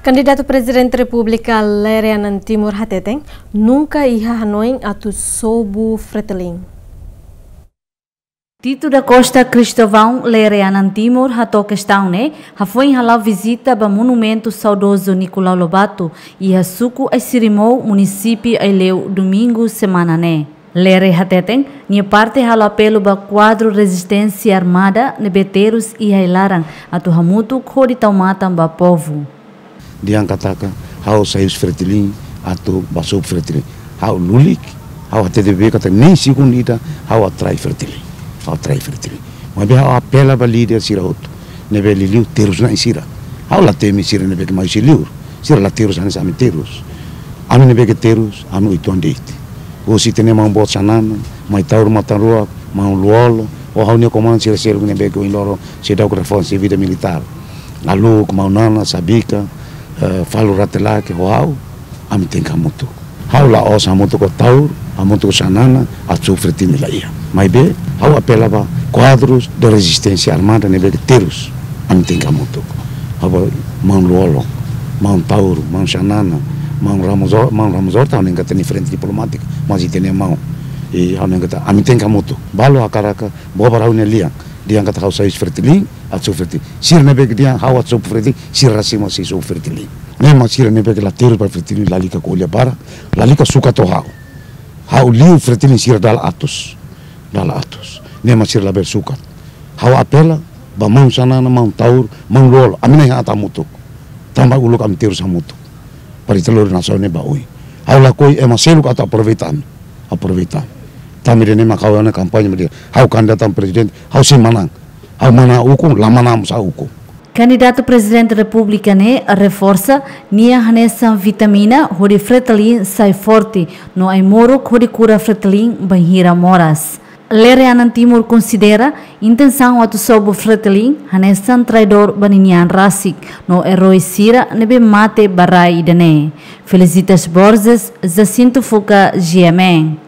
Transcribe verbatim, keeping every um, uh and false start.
Kandidatu Prezidente Repúblika Lere Anan Timur hateten, nunka iha hanoin atu sobu Fretilin. Tito da Costa Cristóvão, Lere Anan Timur, hato'o kestaun ne'e hafoin hala'o vizita ba monumentu saudozu Nicolau Lobato, iha suku Aisirimou, munisípiu Aileu, Domingu semana ne'e. Lere hateten, nia parte halo apelu ba kuadru rezisténsia armada ne'ebé terus iha ai-laran atu hamutuk hodi tau matan ba povu. Dehan katak ha'u sai husi Fretilin atu ba sobu Fretilin. Ha'u lulik, ha'u hatete beibeik katak nein segundu ida ha'u atrai Fretilin. Ha'u atrai Fretilin. Maibé ha'u apela ba líder sira hotu ne'ebé liuliu terus na'in sira. Ha'u la temi sira ne'ebé ke mai husi liur. Sira la terus hanesan ami terus. Ami ne'ebé ke terus, ami uitoan de'it. Husi ita-nia maun boot Xanana, Maun Taur Matan Ruak, Maun Lú-Olo, ho ha'u-nia komandu sira seluk ne'ebé ke ohin loron seidauk reforsa sira vida militár. Aluk, Maun Nana, Sabika, eh, Falu Rate Lake, ho ha'u, ami tenke hamutuk. Ha'u la'ós hamutuk ho Taur, hamutuk ho Xanana, atu sobu Fretilin, la iha. Maibé, ha'u apela ba kuadrus de rezisténsia armada ne'ebé ke terus, ami tenke hamutuk. Ha'u ba Maun Lú-Olo, Maun Taur, Maun Xanana, Maun Ramos Hor-, Maun Ramos Horta, ami tenke iha frente diplomátika, mas ita-nia maun. I ha'u hanoin katak, ami tenke hamutuk. Balu hakarak, bobar ha'u-nia lian. Dehan katak ha'u sai husi Fretilin, atu sobu Fretilin. Sira ne'ebé ke dehan ha'u atu sobu Fretilin, sira rasik mak sei sobu Fretilin. Ne'e mak sira ne'ebé ke la terus ba Fretilin, lalika ko'alia barak, lalika sukat ho ha'u. Ha'u liu Fretilin sira dala atus. Dala atus. Ne'e mak sira labele sukat. Ha'u apela ba Maun Xanana, Maun Taur, Maun Lú-Olo. Ami na'in atu hamutuk. Tanba uluk ami terus hamutuk. Para ita lori nasaun ne'e ba oin. Ha'u lakohi ema seluk atu aproveita ami. Aproveita ami. Tanba ida-ne'e mak ha'u iha ona kampaña mak dehan, ha'u kandidata prezidente, ha'u sei manán. Ha'u manán ukun, la manán mós ha'u ukun. Kandidatu Prezidente Repúblika ne'e reforsa nia hanesan vitamina hodi Fretilin sai forte, no ai-moruk hodi kura Fretilin bainhira moras. Lere Anan Timur konsidera intensaun atu sobu Fretilin hanesan traidór ba ninian rasik, no erói sira ne'ebé mate ba rai ida-ne'e. Felicitas Borges, Jacinto Fuca, G M N.